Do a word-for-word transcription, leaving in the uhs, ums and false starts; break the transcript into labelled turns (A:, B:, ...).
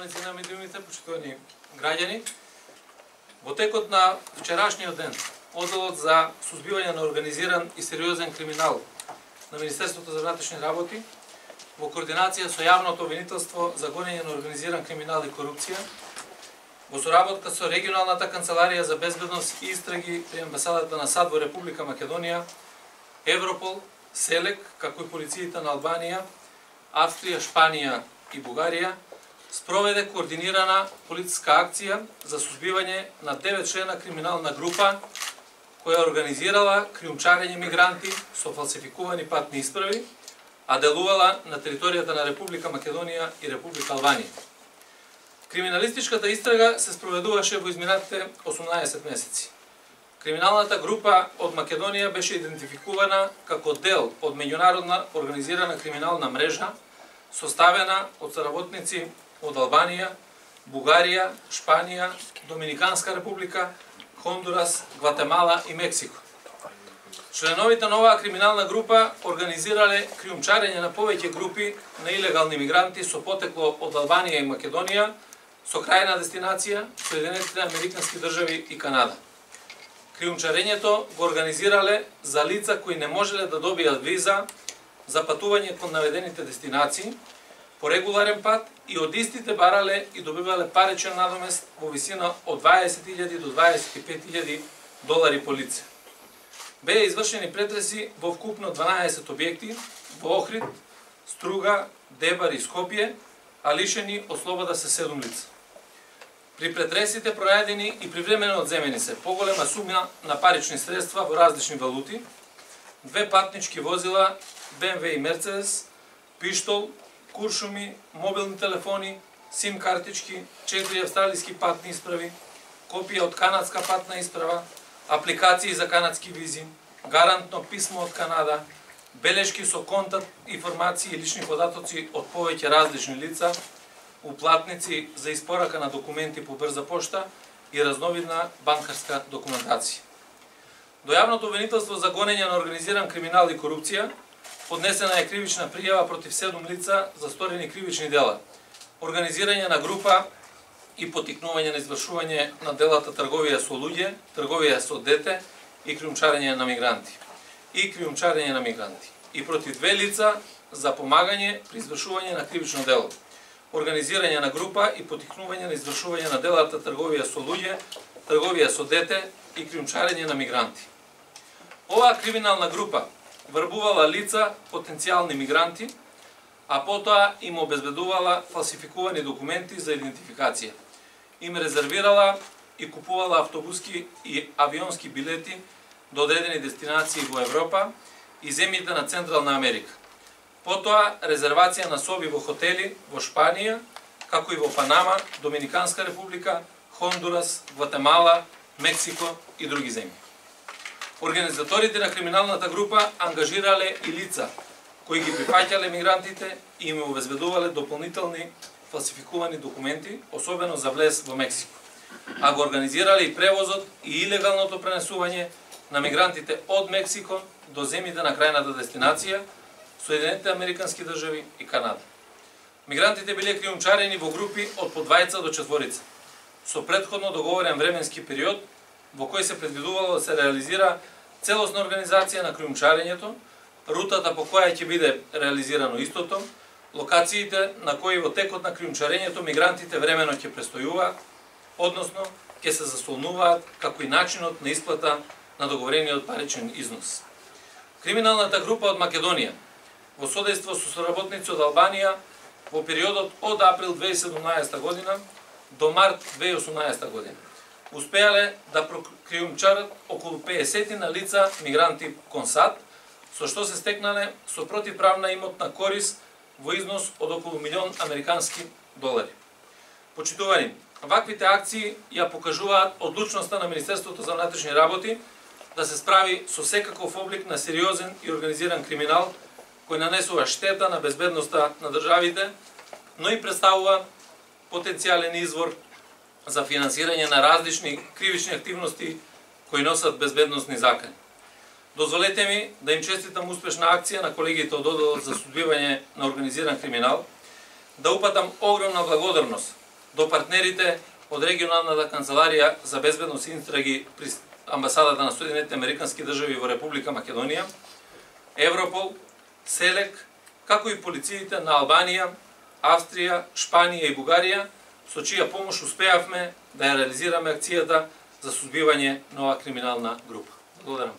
A: Представници на медиумите, почитувани граѓани, во текот на вчерашниот ден, Одделот за сузбивање на организиран и сериозен криминал на Министерството за внатрешни работи, во координација со јавното обвинителство за гонење на организиран криминал и корупција, во соработка со регионалната канцеларија за безбедност и истраги при амбасадата на САД во Република Македонија, Европол, СЕЛЕК, како и полициите на Албанија, Австрија, Шпанија и Бугарија, спроведе координирана полициска акција за сузбивање на девет члена криминална група која организирала криумчарење мигранти со фалсификувани патни исправи, а делувала на територијата на Република Македонија и Република Албанија. Криминалистичката истрага се спроведуваше во изминатите осумнаесет месеци. Криминалната група од Македонија беше идентификувана како дел од меѓународна организирана криминална мрежа, составена од соработници од Албанија, Бугарија, Шпанија, Доминиканска република, Хондурас, Гватемала и Мексико. Членовите на оваа криминална група организирале криумчарење на повеќе групи на илегални мигранти со потекло од Албанија и Македонија, со крајна дестинација Соединетите Американски држави и Канада. Криумчарењето го организирале за лица кои не можеле да добијат виза за патување кон наведените дестинации по регуларен пат и од истите барале и добивале паричен надомест во висина од дваесет илјади до дваесет и пет илјади долари по лице. Беа извршени претреси во вкупно дванаесет објекти во Охрид, Струга, Дебар и Скопје, а лишени од слобода се седум лица. При претресите пронајдени и привремено одземени се поголема сума на парични средства во различни валути, две патнички возила, Б М В и Мерцедес, пиштол, куршуми, мобилни телефони, сим картички, четири австралиски патни исправи, копија од канадска патна исправа, апликации за канадски визи, гарантно писмо од Канада, белешки со контакт, информации и лични податоци од повеќе различни лица, уплатници за испорака на документи по брза пошта и разновидна банкарска документација. До јавното обвинителство за гонење на организиран криминал и корупција поднесена е кривична пријава против седум лица за сторени кривични дела, организирање на група и потикнување на извршување на делата трговија со луѓе, трговија со дете и криумчарење на мигранти. И криумчарење на мигранти. И против две лица за помагање при извршување на кривично дело, организирање на група и потикнување на извршување на делата трговија со луѓе, трговија со дете и криумчарење на мигранти. Оваа криминална група врбувала лица, потенцијални мигранти, а потоа им обезбедувала фалсификувани документи за идентификација. Им резервирала и купувала автобуски и авионски билети до одредени дестинации во Европа и земјите на Централна Америка. Потоа резервација на соби во хотели во Шпанија, како и во Панама, Доминиканска република, Хондурас, Гватемала, Мексико и други земји. Организаторите на криминалната група ангажирале и лица кои ги прифаќале мигрантите и им обезбедувале дополнителни фалсификувани документи, особено за влез во Мексико, а го организирале и превозот и илегалното пренесување на мигрантите од Мексико до земјите на крајната дестинација, Соединетите Американски држави и Канада. Мигрантите биле криумчарени во групи од по двајца до четворица, со претходно договорен временски период во кој се предвидувало да се реализира целосна организација на криумчарењето, рутата по која ќе биде реализирано истото, локациите на кои во текот на криумчарењето мигрантите времено ќе престојуваат, односно ќе се заслонуваат, како и начинот на исплата на договорениот паричен износ. Криминалната група од Македонија, во содејство со соработници од Албанија, во периодот од април две илјади и седумнаесета година до март две илјади и осумнаесета година, успеале да прокриумчарат околу пеесет на лица мигранти кон САД, со што се стекнале со противправна имотна корис во износ од околу милион американски долари. Почитувани, ваквите акции ја покажуваат одлучноста на Министерството за внатрешни работи да се справи со секаков облик на сериозен и организиран криминал кој нанесува штета на безбедноста на државите, но и представува потенцијален извор за финансирање на различни кривични активности кои носат безбедносни закани. Дозволете ми да им честитам успешна акција на колегите од Одделот за сузбивање на организиран криминал, да упатам огромна благодарност до партнерите од регионалната канцеларија за безбедност и истраги при амбасадата на Соединетите Американски држави во Република Македонија, Европол, СЕЛЕК, како и полициите на Албанија, Австрија, Шпанија и Бугарија, со чија помош успеавме да ја реализираме акцијата за сузбивање на оваа криминална група. Благодарам.